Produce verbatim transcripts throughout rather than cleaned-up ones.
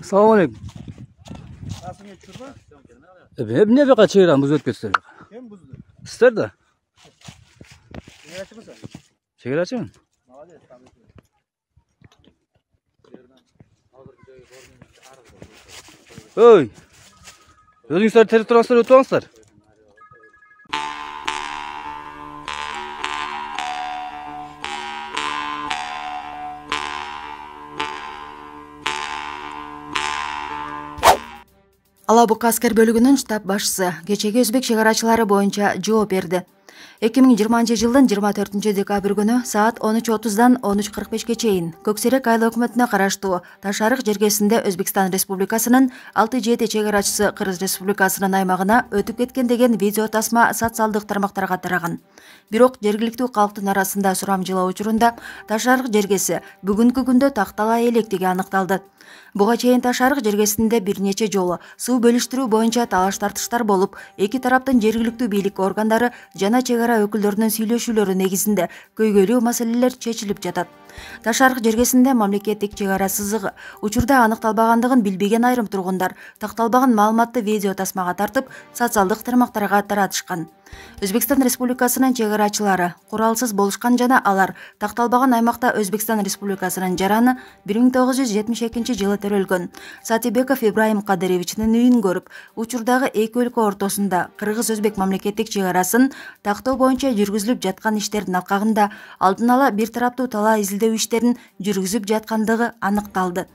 Assalomu alaykum. Rasmga tushirma. Emne beka çeyrem buz ötközsün. Kim buzdu? İster de. Çegarachi mısın? Çeyrachimın. Молодец, tabii ki. Oy. Özüңüzдөр терип турасыздар, өтүп алыңыздар. Ала Бука аскер бөлүгүнүн штаб башчысы кечеги өзбек чегарачылары боюнча жооп берди. эки миң жыйырманчы жылдын жыйырма төртүнчү декабрь күнү саат он үч отуздан он үч кырк бешке чейин Көксерек айыл өкмөтүнө караштуу Таш арык жергесинде Өзбекстан Республикасынын алты жети чегарачысы Кыргыз Республикасынын аймагына өтүп кеткен деген видео тасма социалдык тармактарга тараган. Бирок жергиликтүү калктын арасында сурамжылоо учурунда Таш арык жергеси бүгүнкү күндө тактала электиги аныкталды. Буга чейин Таш арык жергесинде бир нече жолу суу бөлүштүрүү боюнча талаш тартыштар болуп, эки тараптын жергиликтүү бийлик органдары жана чегара өкүлдөрүнүн сүйлөшүүлөрү негизинде көйгөйлүү маселелер чечилип жатат. Таш арык жергесинде мамлекеттик чегара сызыгы учурда аныкталбагандыгын билбеген айрым тургундар такталбаган маалыматты видео тасмага тартып, социалдык тармактарга таратышкан. Өзбекстан Республикасынын чегарачылары куралсыз болушкан жана алар такталбаган аймакта Өзбекстан Республикасынын жараны бир миң тогуз жүз жетимиш экинчи жылы төрөлгөн Сатибеков Ибраим Кадыровичтин үйүн көрүп, учурдагы эки өлкө ортосунда кыргыз-өзбек мамлекеттик чегарасын тактоо боюнча жүргүзүлүп жаткан иштердин алкагында алдын ала бир тараптуу талаа изилдөө иштерин жүргүзүп жаткандыгы аныкталды.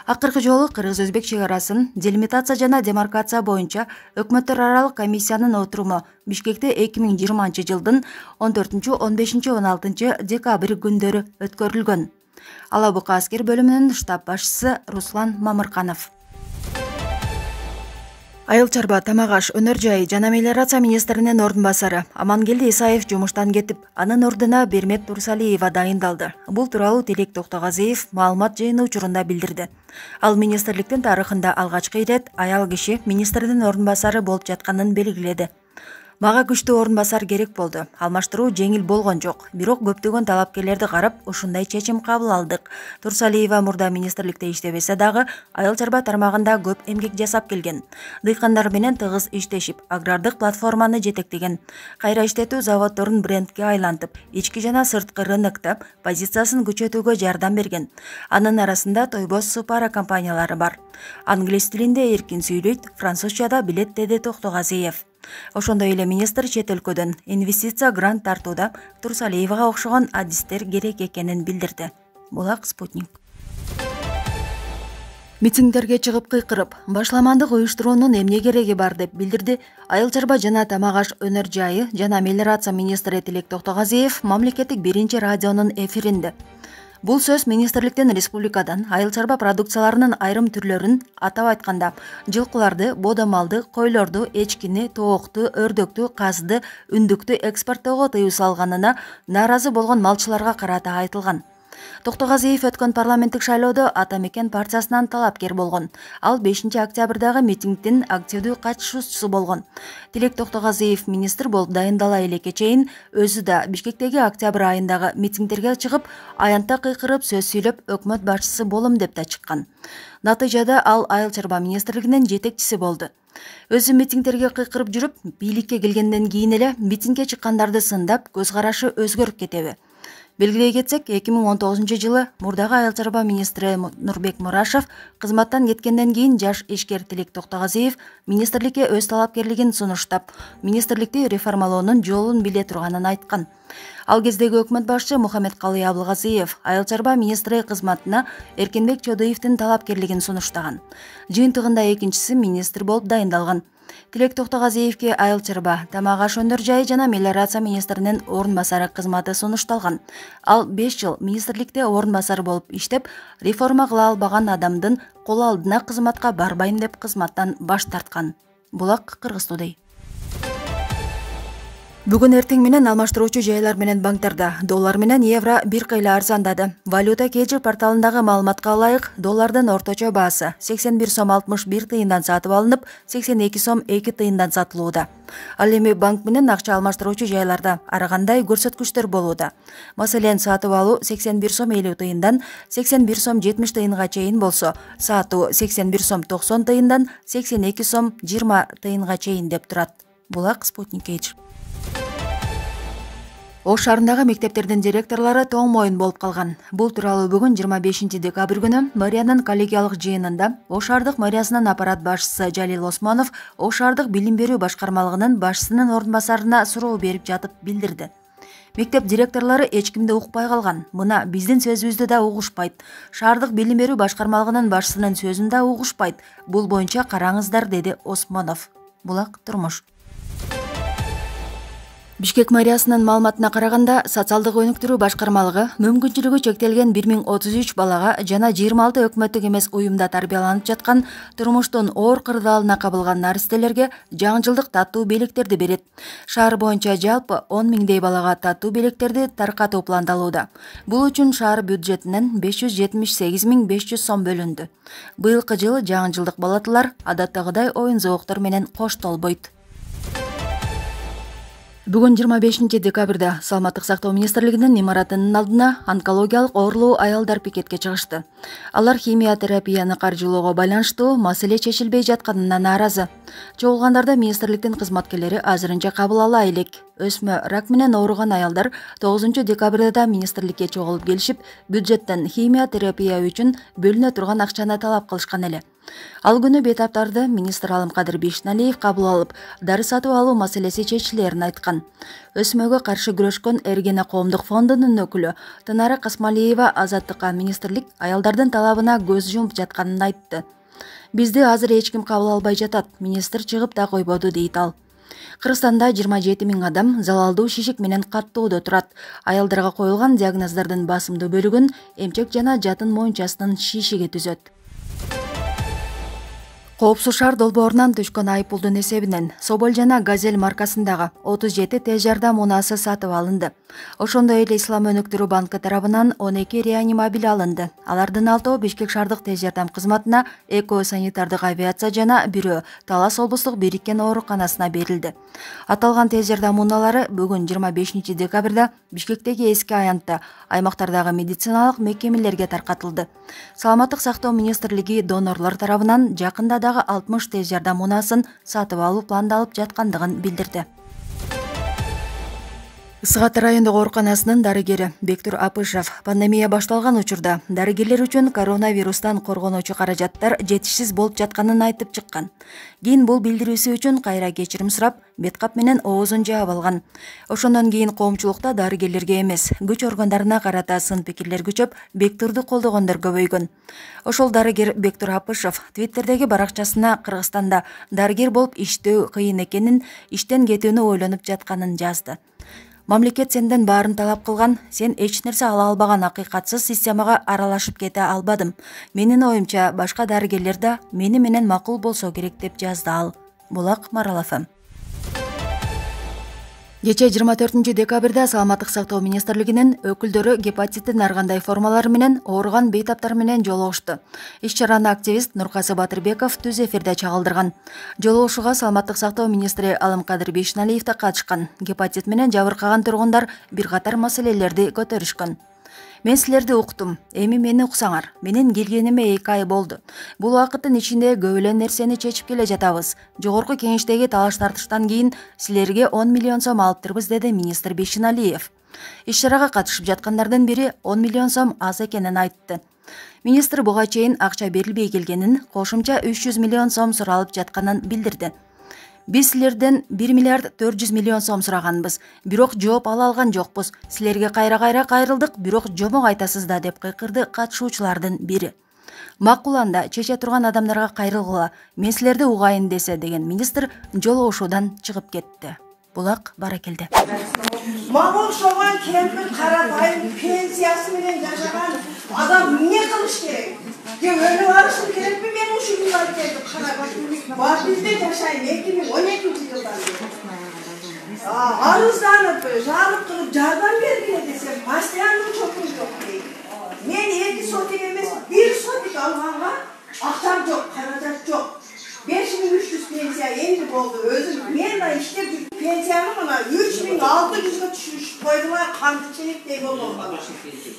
Акыркы жолу кыргыз-өзбек чегарасын делимитация жана демаркация боюнча өкмөттөр аралык комиссиянын отуруму Бишкекте эки миң жыйырманчы жылдын он төртүнчү он бешинчи он алтынчы декабрь күндөрү өткөрүлгөн. Ала Бука аскер бөлүмүнүн штаб башчысы Руслан Мамырканов. Айыл чарба, тамак аш, өнөр жайы жана мелиорация министринин ордун басары Амангелди Исаев жумуштан кетип, анын ордуна Бермет Турсалиева дайындалды. Бул тууралуу Тилек Токтогазиев маалымат жыйыны учурунда билдирди. Ал министрликтин тарыхында алгачкы ирет аял киши министрдин ордун басары болуп жатканын белгиледи. Мага күчтүү ордун басар керек болду. Алмаштыруу жеңил болгон жок. Бирок көптөгөн талапкерлерди карап, ушундай чечим кабыл алдык. Турсалиева мурда министрликте иштебесе дагы, айыл чарба тармагында көп эмгек жасап келген. Дыйкандар менен тыгыз иштешип, агрардык платформаны жетектеген. Кайра иштетүү заводдорун брендке айлантып, ички жана сырткы рыноктоп, позициясын күчөтүүгө жардам берген. Анын арасында Тойбос Супара компаниялары бар. Англис тилинде эркин сүйлөйт, французчада билет, деди Токтогазиев. Ошондой эле министр чет өлкөдөн инвестиция грант тартууда Турсалиевага окшогон адистер керек экенин билдирди. Булак Спутник. Митингдерге чыгып кыйкырып, башламандык уюштуруунун эмне кереги бар деп билдирди айыл чарба жана тамак аш, өнөр жайы жана мелиорация министри Тилек Токтогазиев мамлекеттик биринчи радионун эфиринде. Бул сөз министрликтин республикадан айыл чарба продукцияларынын айрым түрлөрүн, атап айтканда, жылкыларды, бодомалды, койлорду, эчкини, тоокту, өрдөктү, казды, үндүктү экспорттоого тыюу салганына нааразы болгон малчыларга карата айтылган. Токтогазиев өткөн парламенттик шайлоодо Ата Мекен партиясынан талапкер болгон. Ал бешинчи октябрдагы митингдин активдүү катышуучусу болгон. Тилек Токтогазиев министр болуп дайындала элекке чейин өзү да Бишкектеги октябрь айындагы митингдерге чыгып, аянтта кыйкырып сөз сүйлөп, өкмөт башчысы болом деп да чыккан. Натыйжада ал айыл чарба министрлигинин жетекчиси болду. Өзү митингдерге кыйкырып жүрүп, бийликке келгенден кийин эле митингге чыккандарды сындап, көз карашы өзгөрүп кетеби? Белгилей кетсек, эки миң он тогузунчу жылы мурдагы айыл чарба министри Нурбек Мурашев кызматтан кеткенден кийин жаш ишкер Тилек Токтогазиев министрликке өз талапкерлигин сунуштап, министрликти реформалоонун жолун биле турганын айткан. Ал кездеги өкмөт башчы Мухаммедкалый Абылгазиев айыл чарба министри кызматына Эркинбек Чодуевдин талапкерлигин сунуштаган. Жыйынтыгында экинчиси министр болуп дайындалган. Тилек Токтогазиевке айыл чарба, тамак аш, өнөр жайы жана мелиорация министринин ордун басары кызматы сунушталган. Ал беш жыл министрликте ордун басары болуп иштеп, реформа кыла албаган адамдын кол алдына кызматка барбайм деп кызматтан баш тарткан. Булак Кыргыз Today. Бүгүн эртең менен алмаштыруучу жайлар менен банктарда доллар менен евро бир кыйла арзандады. Валюта кежи порталындагы маалыматка ылайык, доллардын орточо баасы сексен бир сом алтымыш бир тыйындан сатып алынып, сексен эки сом эки тыйындан сатылууда. Ал эми банк менен акча алмаштыруучу жайларда ар кандай көрсөткүчтөр болууда. Маселен, сатып алуу сексен бир сом элүү тыйындан сексен бир сом жетимиш тыйынга чейин болсо, сатуу сексен бир сом токсон тыйындан сексен эки сом жыйырма тыйынга чейин деп турат. Булак Спутник Эйч. Ош шаарындагы мектептердин директорлору тоң моюн болуп калган. Бул тууралуу бүгүн жыйырма бешинчи декабрь күнү мэриянын коллегиялык жыйынында Ош шаардык мэриясынын аппарат башчысы Жалил Осмонов Ош шаардык билим берүү башкармалыгынын башчысынын орун басарына суроо берип жатып билдирди. Мектеп директорлору эч кимди укпай калган. Мына биздин сөзүбүздү да угушпайт. Шаардык билим берүү башкармалыгынын башчысынын сөзүн да угушпайт. Бул боюнча караңыздар, деди Осмонов. Булак турмуш. Бишкек мэриясынын маалыматына караганда, социалдык өнүктүрүү башкармалыгы мүмкүнчүлүгү чектелген бир миң отуз үч балага жана жыйырма алты өкмөттүк эмес уюмда тарбияланып жаткан турмуштун оор кырдаалына кабылган наристелерге жаңы жылдык таттуу белектерди берет. Шаар боюнча жалпы он миңдей балага таттуу белектерди таркатуу пландалууда. Бул үчүн шаар бюджетинен беш жүз жетимиш сегиз миң беш жүз сом бөлүндү. Быйылкы жылы жаңы жылдык балатылар адаттагыдай оюн зооктор менен коштолбойт. Бүгүн жыйырма бешинчи декабрда Саламаттык сактоо министрлигинин имаратынын алдына онкологиялык оорулуу аялдар пикетке чыгышты. Алар химия терапияны каржылоого байланыштуу маселе чечилбей жатканына нааразы. Чогулгандарды министрликтин кызматкерлери азырынча кабыл ала элек. Өсмө рак менен ооруган аялдар тогузунчу декабрда министрликке чогулуп келишип, бюджеттен химия терапия үчүн бөлүнө турган акчаны талап кылышкан эле. Ал күнү бейтаптарды министр Алымкадыр Бейшеналиев кабыл алып, дары сатып алуу маселеси чечилерин айткан. Өсмөгө каршы күрөшкөн Эргене коомдук фондунун өкүлү Тынара Касмалиева Азаттыкка министрлик аялдардын талабына көз жумуп жатканын айтты. Бизди азыр эч ким кабыл албай жатат, министр чыгып да койбоду, дейт ал. Кыргызстанда жыйырма жети миң адам залалдуу шишик менен каттоодо турат. Аялдарга коюлган диагноздордун басымдуу бөлүгүн эмчек жана жатын моюнчасынын шишиги түзөт. Коопсуз шаар долбоорунан түшкөн айыппулдун эсебинен Соболь жана Газель маркасындагы отуз жети тез жардам унаасы сатып алынды. Ошондой эле Ислам өнүктүрүү банкы тарабынан он эки реанимобиль алынды. Алардын алтоо Бишкек шаардык тез жардам кызматына, эко санитардык авиация жана бирөө Талас облустук бириккен ооруканасына берилди. Аталган тез жардам унаалары бүгүн жыйырма бешинчи декабрда Бишкектеги эски аянтта аймактардагы медициналык мекемелерге таркатылды. Саламаттык сактоо министрлиги донорлор тарабынан жакында дагы алтымыш тез жардам унаасын сатып алуу пландалып жаткандыгын билдирди. Ысык Ата райондук ооруканасынын дарыгери Бектур Апышев пандемия башталган учурда дарыгерлер үчүн коронавирустан коргонуучу каражаттар жетишсиз болуп жатканын айтып чыккан. Кийин бул билдирүүсү үчүн кайра кечирим сурап, беткап менен оозун жаап алган. Ошондон кийин коомчулукта дарыгерлерге эмес, күч органдарына карата сын пикирлер күчөп, Бектурду колдогондор көбөйгөн. Ошол дарыгер Бектур Апышев Твиттердеги баракчасына Кыргызстанда дарыгер болуп иштөө кыйын экенин, иштен кетүүнү ойлонуп жатканын жазды. Мамлекет сенден баарын талап кылган, сен эч нерсе ала албаган акыйкатсыз системага аралашып кете албадым. Менин оюмча, башка дарыгерлер да мени менен макул болсо керек, деп жазды ал. Булак Марал эф эм. Кечээ жыйырма төртүнчү декабрда Саламаттык сактоо министрлигинин өкүлдөрү гепатиттин ар кандай формалары менен ооруган бейтаптар менен жолугушту. Иш-чараны активист Нуркасы Батырбеков түз эфирде чагылдырган. Жолугушууга Саламаттык сактоо министри Алымкадыр Бейшеналиев да катышкан. Гепатит менен жабыркаган тургундар бир катар маселелерди көтөрүшкөн. Мен силерди уктум, эми мени уксаңар. Менин келгениме эки ай болду. Бул убакыттын ичинде көп эле нерсени чечип келе жатабыз. Жогорку кеңештеги талаш тартыштан кийин силерге он миллион сом алыптырбыз, деди министр Бейшеналиев. Иш-чарага катышып жаткандардын бири он миллион сом аз экенин айтты. Министр буга чейин акча берилбей келгенин, кошумча үч жүз миллион сом суралып жатканын билдирди. Биз силерден бир миллиард төрт жүз миллион сом сураганбыз, бирок жооп ала алган жокпуз. Силерге кайра-кайра кайрылдык, бирок жомок айтасыз да, деп кыйкырды катышуучулардын бири. Макул, анда чече турган адамдарга кайрылгыла, мен силерди угайын десе, деген министр жолугушуудан чыгып кетти. Булак Баракелде. Мага окшогон кемпир каратайым пенсиясы менен жашаган адам эмне кылыш керек? Же өлүп алышым керекпи мен ушул күндө келип карап? Бар бизде жашайм эки миң он экинчи жылдан бери. арызданып, жалып кылып жардам бергиле десем, постоянно чокум жок дейт. Мен эки сотик эмес, бир сотик алганга акчам жок, каражат жок. besh ming uch yuz pensiya endi boldu. Өзүм мен да иштеп жүрүп пенсияны мына uch ming alты yüzгө түшүрүп койдулар, кандычылыктей болгон.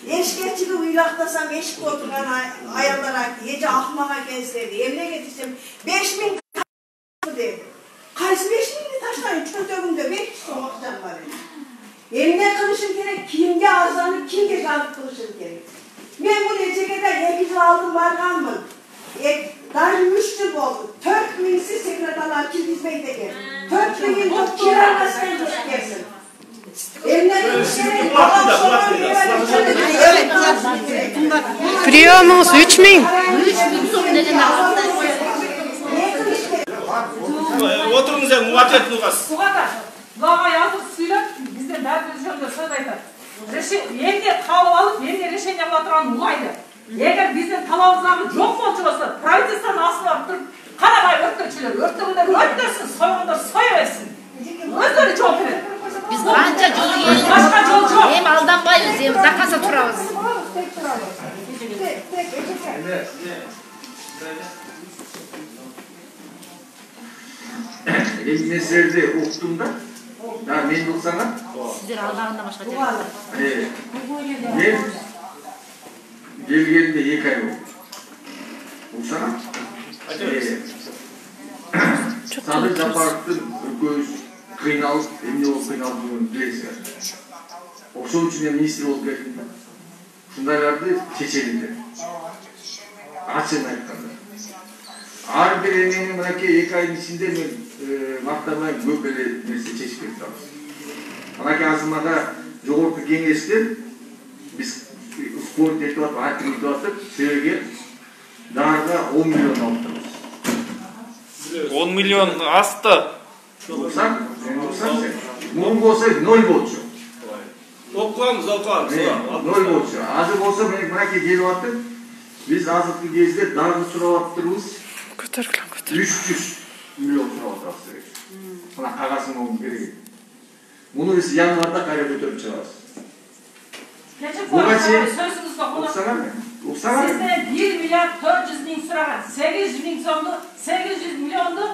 Эшкечиги уйлактасам эшикте отурган аялдар айтты, эже акмак экенсиз, эмнеге десем, besh ming деди. Кайсы besh mingди таштайын, чөнтөгүмдө besh сом акчам бар. Эмне кылышым керек, кимге арызданып, кимге жалып кылышым керек. Мен бул эчеге да эки жыл алдын барганмын. Даже üç yıl oldu. dört mingsiz sekreterler kirgizmeyi de geldi. dört mingin yok kiralasın yok gelsin. Приемыңыз üç ming. Отырыңыз енді ответ қылғас. Бұларға yazıp сөйлеп, бізден бәріміз жөнінде сөз айтады. Енді қалып алып, енді решение қыла тұрған улайды. Егер біздің талабымыздағы жоқ болчу болса, правительствоны астына тұрып, қарағай өрттірчілер, өрттігіндер өрттерсін, сойғандар соя берсін. Өздері жол береді. Biz qancha jol yeydik. Başqa жол жоқ. Hem aldanbayız, hem zakasa turabız. Мен сіздерді оқытым да, мен болсаңа. Sizler aldağında başka jol. Мен келгенде екі ай болды. Оқысаңа. Садыр Жапаровтың үлкөз қиналып, эмне болып қиналып жүргенін білесіздер. Ошол үчүн мен министр болып келдим да. Шундайларды чечелиңдер. Ачык айтканда. Ар бир эмнени мынакей эки айдын ичинде мен мактамай көп эле нерсе чечип кетебиз. Анакей азырмада жогорку кеңештен биз спорт етіп атып, айтып етіп атып, сіздерге дарыға он миллион алып тұрмыз. он миллион асты. Оқсаң, оқсаң сен. Мұн болса ноль болчу. Оқығамыз, оқығамыз. ноль болчу. Азыр болса, мынаке келіп атып, біз азыркы кезде дары сұрап атырмыз. үч жүз миллион сұрап атырмыз. Мына қағасын оңын керек. Мұны біз январда қайра көтеріп шығарыз. Sizden bir milyar dört yüz bin sıragan, sekiz yüz bin sonlu, sekiz yüz milyonlu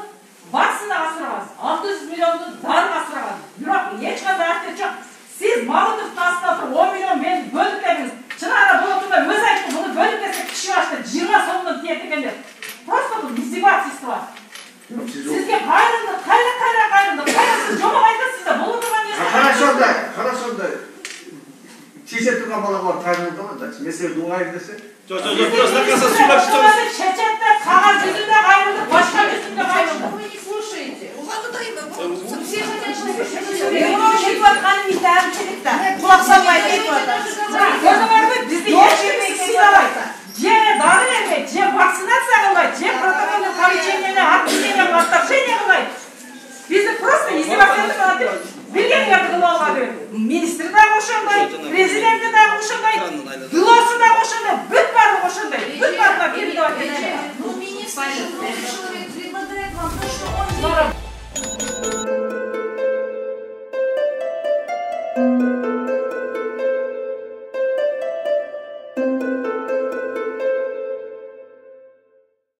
vaksina asırağız, altı yüz milyonlu darı asırağız. Yok, hiç kadar artık çok. Siz Mahmutov tasnafı on milyon ben bölüp dediniz. Çınar'a bulutunda öz ayıptı bunu bölüp desek kişi başta yirmi sonundan diyetikender. Просто bu izdivacısı var. Sizge gayrındı, kayra kayra gayrındı, kayrasız jomak aytasız da bulundurgan yerine. Хорошо да, хорошо да. Чеше тұрған балаға тайынылды ма да? Меселе дуңайын десе? Жоқ, жоқ, жоқ, просто накаса сүйіп шығамыз. Шечетте, қағаз жүзінде қайырылды, башқа жүзінде қайырылды. Вы не слушаете. Все хотят, чтобы вы слушали. Кетіп атқаным ит әмшілікті. Құлақ салмай кетіп атасыз. Көрді бар ғой, бізді ешкіммен сыйламайды. Же дары бермейді, же вакцинация қылмайды, же протоколдық поручениені, отменение, отторжение қылмайды. Бізді просто издевательство қылады. Билгендерді қылып алған министр да ошондай, президенті да ошондай, дылосы да ошондай, бүт барлығы ошондай, бүт барлығы келді деп айтады. Ну, министр, человек предлагает вам то, что он...